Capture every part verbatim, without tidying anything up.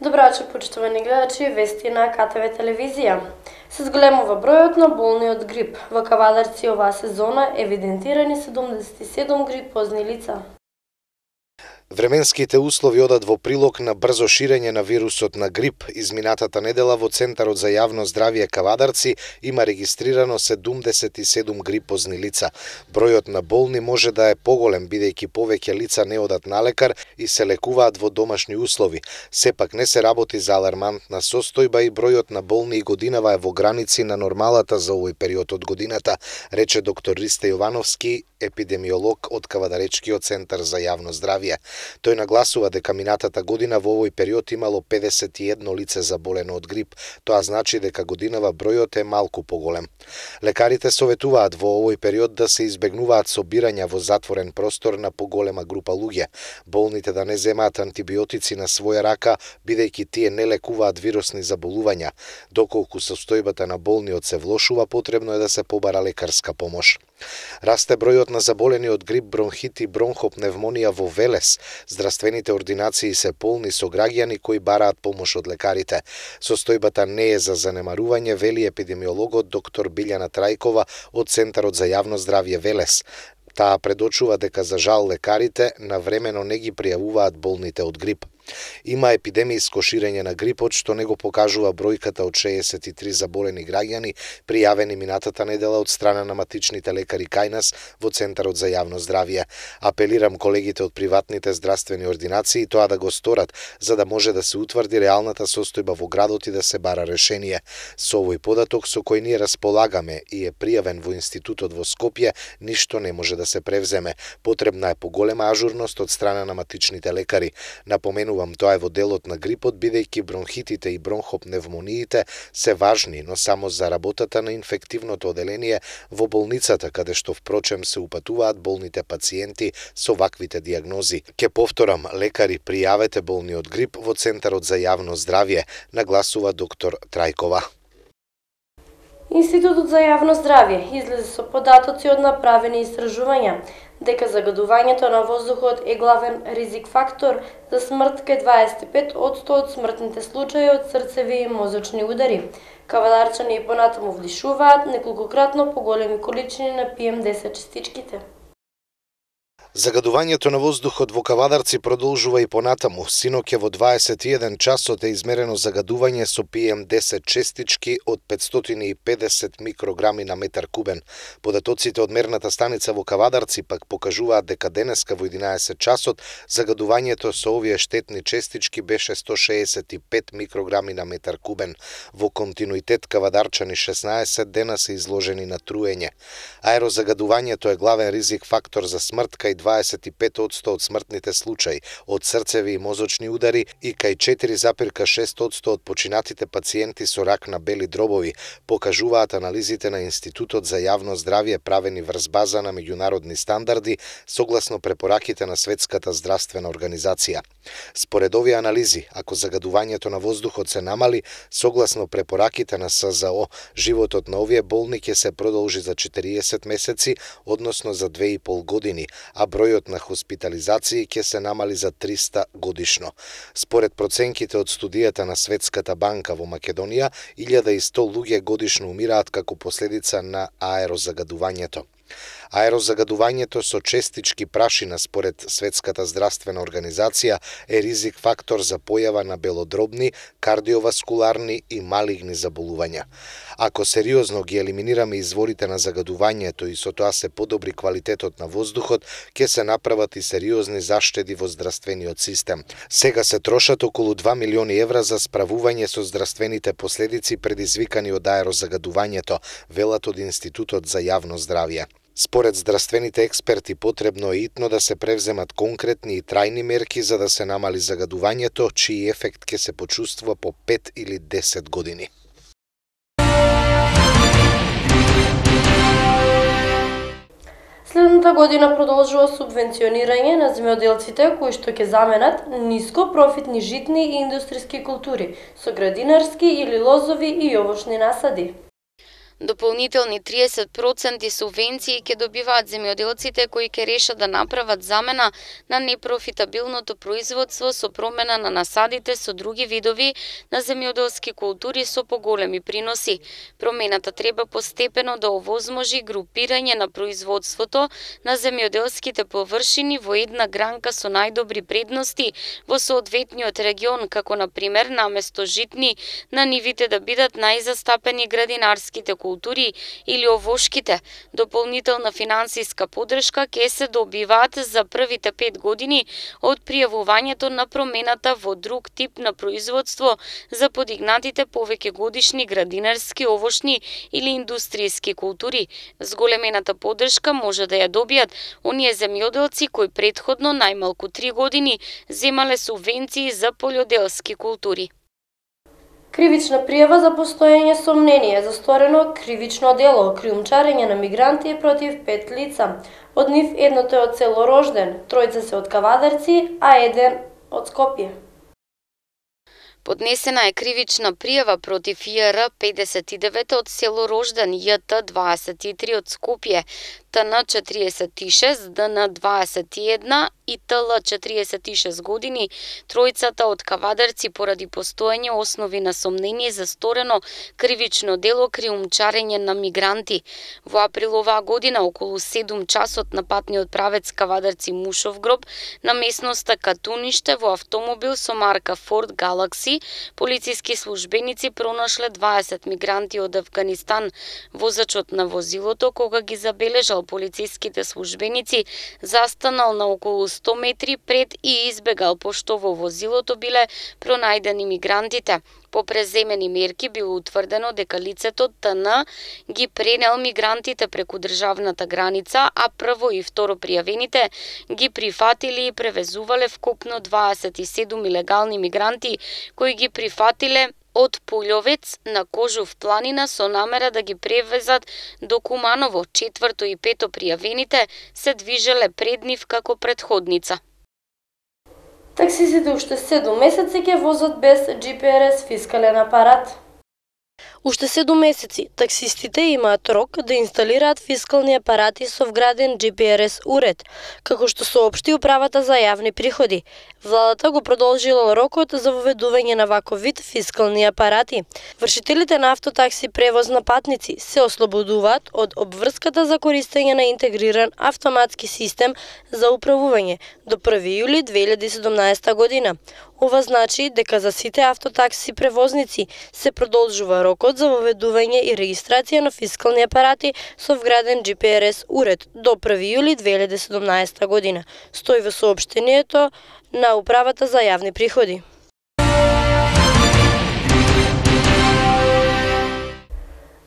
Добро вечер, почитувани гледачи, вести на К Т В телевизија. Се зголемува бројот на болни од грип. Во Кавадарци оваа сезона евидентирани седумдесет и седум грипозни лица. Временските услови одат во прилог на брзо ширење на вирусот на грип. Изминатата недела во Центарот за јавно здравје Кавадарци има регистрирано седумдесет и седум грипозни лица. Бројот на болни може да е поголем, бидејќи повеќе лица не одат на лекар и се лекуваат во домашни услови. Сепак не се работи за алармантна состојба и бројот на болни и годинава е во граници на нормалата за овој период од годината, рече доктор Ристе Јовановски, епидемиолог од Кавадаречкиот центар за јавно здравје. Тој нагласува дека минатата година во овој период имало педесет и едно лице заболено од грип. Тоа значи дека годинава бројот е малку поголем. Лекарите советуваат во овој период да се избегнуваат собирања во затворен простор на поголема група луѓе. Болните да не земаат антибиотици на своја рака, бидејќи тие не лекуваат вирусни заболувања. Доколку состојбата на болниот се влошува, потребно е да се побара лекарска помош. Расте бројот на заболени од грип, бронхит и бронхопневмонија во Велес. Здравствените ординации се полни со граѓани кои бараат помош од лекарите. Состојбата не е за занемарување, вели епидемиологот доктор Билјана Трајкова од Центарот за јавно здравје Велес. Таа предочува дека за жал лекарите навремено не ги пријавуваат болните од грип. Има епидемијско ширење на грипот, што не го покажува бројката од шеесет и три заболени граѓани, пријавени минатата недела од страна на матичните лекари кај нас во Центарот за јавно здравје. Апелирам колегите од приватните здравствени ординации тоа да го сторат, за да може да се утврди реалната состојба во градот и да се бара решение. Со овој податок со кој ние располагаме и е пријавен во институтот во Скопје, ништо не може да се превземе. Потребна е поголема ажурност од страна на матичните лекари. Напомену Тоа е во делот на грипот, бидејќи бронхитите и бронхопневмониите се важни, но само за работата на инфективното оделение во болницата, каде што впрочем се упатуваат болните пациенти со ваквите диагнози. Ке повторам, лекари, пријавете болни од грип во Центарот за јавно здравје, нагласува доктор Трајкова. Институтот за јавно здравје излезе со податоци од направени истражувања дека загадувањето на воздухот е главен ризик фактор за смрт кај дваесет и пет одсто од смртните случаи од срцеви и мозочни удари. Кавадарчани и понатаму влишуваат неколкократно поголеми количини на Пи Ем десет частичките. Загадувањето на воздухот во Кавадарци продолжува и понатаму. Синоќа во дваесет и еден часот е измерено загадување со Пи Ем десет честички од петстотини и педесет микрограми на метар кубен. Податоците од мерната станица во Кавадарци пак покажуваат дека денеска во единаесет часот загадувањето со овие штетни честички беше сто шеесет и пет микрограми на метар кубен. Во континуитет кавадарчани шеснаесет дена се изложени на труење. Аерозагадувањето е главен ризик фактор за смрт кај дваесет и пет одсто од смртните случаи од срцеви и мозочни удари и кај четири зарез и шест одсто од починатите пациенти со рак на бели дробови, покажуваат анализите на Институтот за јавно здравје правени врз база на меѓународни стандарди согласно препораките на Светската здравствена организација. Според овие анализи, ако загадувањето на воздухот се намали, согласно препораките на С За О, животот на овие болни ќе се продолжи за четириесет месеци, односно за две и пол години, а бројот на хоспитализации ќе се намали за триста годишно. Според проценките од студијата на Светската банка во Македонија, илјада и сто луѓе годишно умираат како последица на аерозагадувањето. Аерозагадувањето со честички прашина според Светската здравствена организација е ризик фактор за појава на белодробни, кардиоваскуларни и малигни заболувања. Ако сериозно ги елиминираме изворите на загадувањето и со тоа се подобри квалитетот на воздухот, ќе се направат и сериозни заштеди во здравствениот систем. Сега се трошат околу два милиони евра за справување со здравствените последици предизвикани од аерозагадувањето, велат од Институтот за јавно здравје. Според здравствените експерти, потребно е итно да се превземат конкретни и трајни мерки за да се намали загадувањето, чиј ефект ќе се почувствува по пет или десет години. Следната година продолжува субвенционирање на земјоделците кои што ќе заменат ниско профитни житни и индустријски култури со градинарски или лозови и јовошни насади. Дополнителни триесет проценти субвенции ќе добиваат земјоделците кои ќе решат да направат замена на непрофитабилното производство со промена на насадите со други видови на земјоделски култури со поголеми приноси. Промената треба постепено да овозможи групирање на производството на земјоделските површини во една гранка со најдобри предности во соодветниот регион, како на пример наместо житни на нивите да бидат најзастапени градинарските култури или овошките. Дополнителна финансиска подршка ќе се добиваат за првите пет години од пријавувањето на промената во друг тип на производство за подигнатите повеќе годишни градинарски, овошни или индустријски култури. Зголемената подршка може да ја добијат оние земјоделци кои претходно најмалку три години земале субвенции за полјоделски култури. Кривична пријава за постоење сомнение за сторено кривично дело криумчарење на мигранти против пет лица. Од нив едното е од село Рожден, тројца се од Кавадарци, а еден од Скопје. Поднесена е кривична пријава против И Р педесет и девет од село Рожден, Ј Т дваесет и три од Скопје, Т Н четириесет и шест, Д Н дваесет и една и Т Л четириесет и шест години, тројцата од Кавадарци поради постоење основи на сомнение за сторено кривично дело криумчарење на мигранти. Во април оваа година, околу седум часот на патниот правец Кавадарци Мушовгроб, на местноста Катуниште во автомобил со марка Форд Галакси, полициски службеници пронашле дваесет мигранти од Авганистан. Возачот на возилото, кога ги забележал полициските службеници, застанал на околу сто метри пред и избегал, пошто во возилото биле пронајдени мигрантите. По преземени мерки било утврдено дека лицето Т Н ги пренел мигрантите преку државната граница, а прво и второ пријавените ги прифатили и превезувале вкупно дваесет и седум илегални мигранти кои ги прифатиле од Пулјовец на Кожув планина со намера да ги превезат до Куманово. Четврто и пето пријавените се движеле пред нив како претходница. Таксисите уште седум месеци ќе возат без Џи Пи Ар Ес фискален апарат. Уште седум месеци таксистите имаат рок да инсталираат фискални апарати со вграден Џи Пи Ар Ес уред, како што соопшти управата за јавни приходи. Владата го продолжила рокот за воведување на ваков вид фискални апарати. Вршителите на автотакси превоз на патници се ослободуваат од обврската за користење на интегриран автоматски систем за управување до први јули две илјади и седумнаесета година. Ова значи дека за сите автотакси превозници се продолжува рокот за воведување и регистрација на фискални апарати со вграден Џи Пи Ар Ес уред до први јули две илјади и седумнаесета година, стои во соопштението на управата за јавни приходи.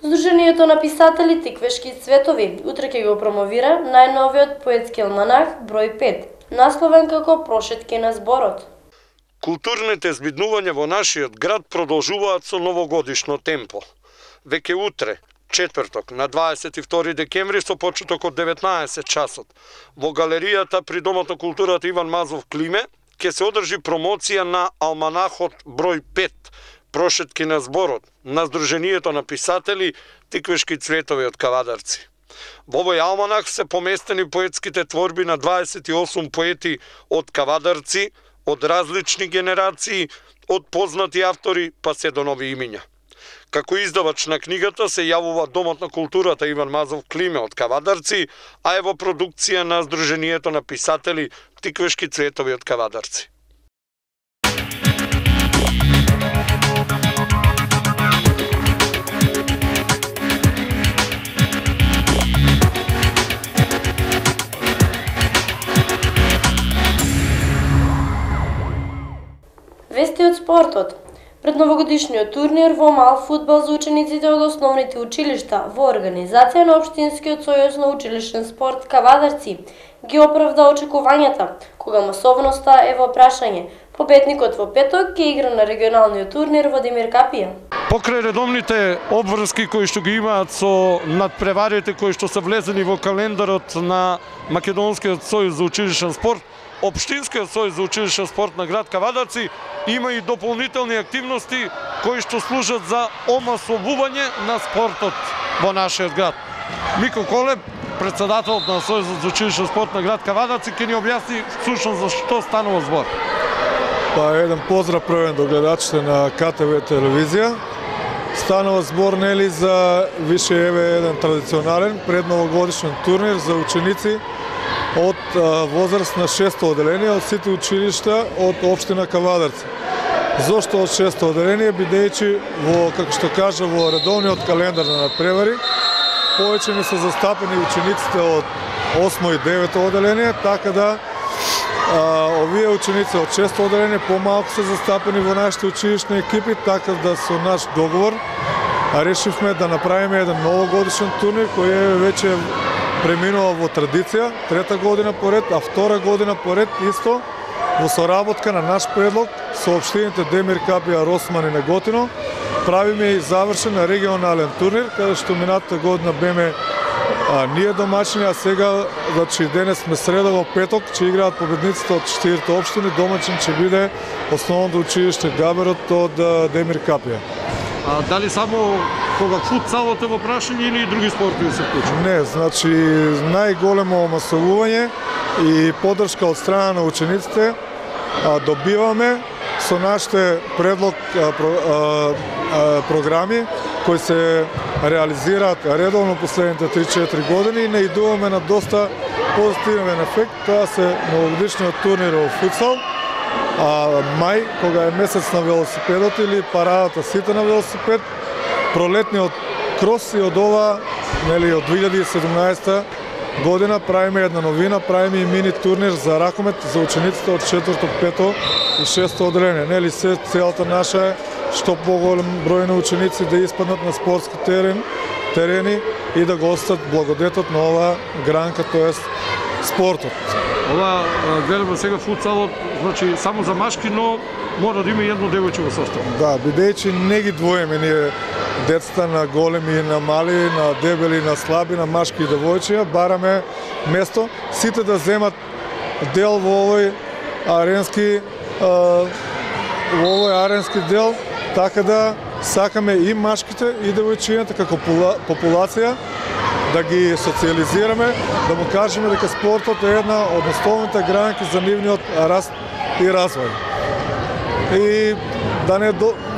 Сдруженијето на писатели Тиквешки цветови утре ќе го промовира најновиот поетски алманах број пет, насловен како Прошетки на зборот. Културните збиднувања во нашиот град продолжуваат со новогодишно темпо. Веќе утре, четврток, на дваесет и втори декември со почеток од деветнаесет часот, во галеријата при Домот на културата Иван Мазов Климе ќе се одржи промоција на алманахот број пет, Прошетки на зборот, на Сдруженијето на писатели Тиквешки цветови од Кавадарци. Во овој алманах се поместени поетските творби на дваесет и осум поети од Кавадарци, од различни генерации, од познати автори па се до нови имиња. Како издавач на книгата се јавува Домот на културата Иван Мазов Климе од Кавадарци, а е во продукција на Сдруженијето на писатели Тиквешки цветови од Кавадарци. Вести од спортот. Пред новогодишниот турнир во мал фудбал за учениците од основните училишта во организација на Општинскиот сојуз на училишен спорт Кавадарци ги оправда очекувањата, кога масовноста е во прашање. Победникот во петок ќе игра на регионалниот турнир во Демир Капија. Покрај редовните обврски кои што ги имаат со надпреварите кои што се влезени во календарот на Македонскиот сојуз за училишен спорт, Општинскиот сојуз за училишен спорт на град Кавадарци има и дополнителни активности кои што служат за омасовување на спортот. во нашиот град. Мико Колеб, председателот на Сојузот за училишен спорт на град Кавадарци, ќе ни објасни всушност за што станува збор. Па еден поздрав првен до гледачите на К Т В телевизија. Станува збор нели за више еве еден традиционален предновогодишен турнир за ученици од возраст на шесто оделение од сите училишта од општина Кавадарци. Зошто од шесто оделение, бидејќи во, како што кажа, во редовниот календар на надпревари повеќе не се застапени учениците од осмо и девето оделение, така да а, овие ученици од шесто оделение помалку се застапени во нашите училишни екипи, така да со наш договор решивме да направиме еден новогодишен турнир кој е веќе преминува во традиција, трета година поред, а втора година поред исто во соработка на наш предлог со општините Демир Капија, Росман и Неготино. Правиме и завршен регионален турнир, каде што минатата година беме а, ние домачини, а сега, значи денес сме среда во петок, ќе играат победниците од четирите општини, домачин ќе биде основното училиште Габерот од Демир Капија. А дали само кога футсалот е во прашање или и други спортови се вклучени? Не, значи најголемо масовување и поддршка од страна на учениците а, добиваме со нашите предлог а, про, а, а, програми кои се реализираат редовно последните три-четири години и наидуваме на доста позитивен ефект. Тоа се новогодишниот турнир во футсал, а мај, кога е месец на велосипедот или парадата сите на велосипед, пролетниот крос и од ова, нели, од две илјади и седумнаесета година правиме една новина, правиме и мини турнир за ракомет за учениците од четврто, пето и шесто оделение. Нели, се целата наша е што поголем број на ученици да испаднат на спортски терен, терени и да го остат благодетот на оваа гранка, тоест спортот. Ова гледаме сега футсалот, значи само за машки, но мора да има и едно девојче во состав. Да, бидејќи не ги двоиме ние децата на големи и на мали, на дебели, на слаби, на машки и девојчиња, бараме место сите да земат дел во овој аренски а, во овој аренски дел, така да сакаме и машките и девојчињата како популација да ги социализираме, да му кажеме дека спортот е една од основните гранки за нивниот раст и развој. И да не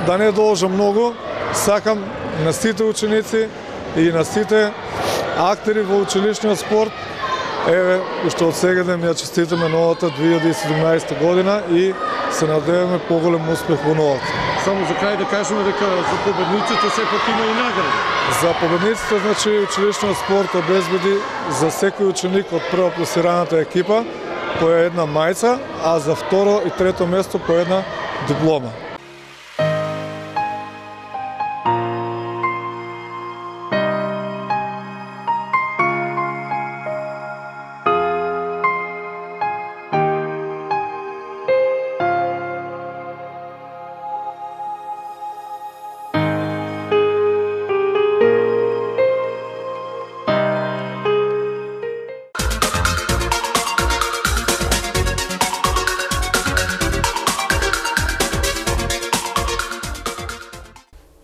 да не должам многу, сакам на сите ученици и на сите актери во училишниот спорт, еве, уште од сега да ми ја честитаме новата две илјади и седумнаесета година и се надеваме поголем успех во новата. Само за крај да кажеме дека за победниците сепак има и награди. За победниците, значи, училишниот спорт обезбеди за секој ученик од прва пласираната екипа по една мајца, а за второ и трето место по една диплома.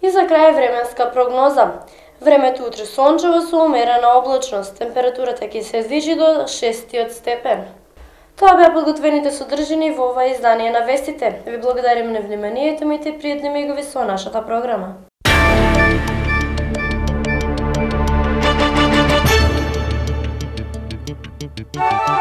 И за крај временска прогноза. Времето утре сончево со умерена облачност. Температурата ќе се движи до шестиот степен. Тоа беа подготвените содржини во ова издание на вестите. Ви благодарим на вниманието, имајте пријатни мигови со нашата програма. Thank you.